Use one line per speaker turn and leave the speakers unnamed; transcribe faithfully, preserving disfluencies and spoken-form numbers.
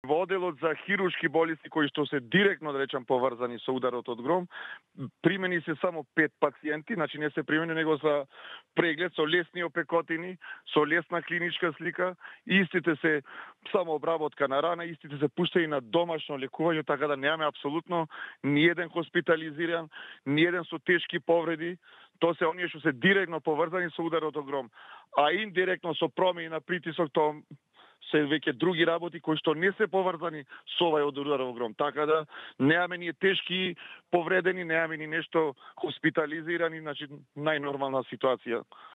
Во одделот за хируршки болести кои што се директно, да речам, поврзани со ударот од гром, примени се само пет пациенти, значи не се примени него за преглед со лесни опекотини, со лесна клиничка слика, истите се само обработка на рана, истите се пуштени на домашно лекување, така да немаме апсолутно ни еден хоспитализиран, ни еден со тешки повреди. Тоа се оние што се директно поврзани со ударот од гром, а индиректно со промени на притисок, тоа се веќе други работи кои што не се поврзани со овај удар од гром. Така да немаме ние тешки повредени, немаме ни нешто хоспитализирани, значи најнормална ситуација.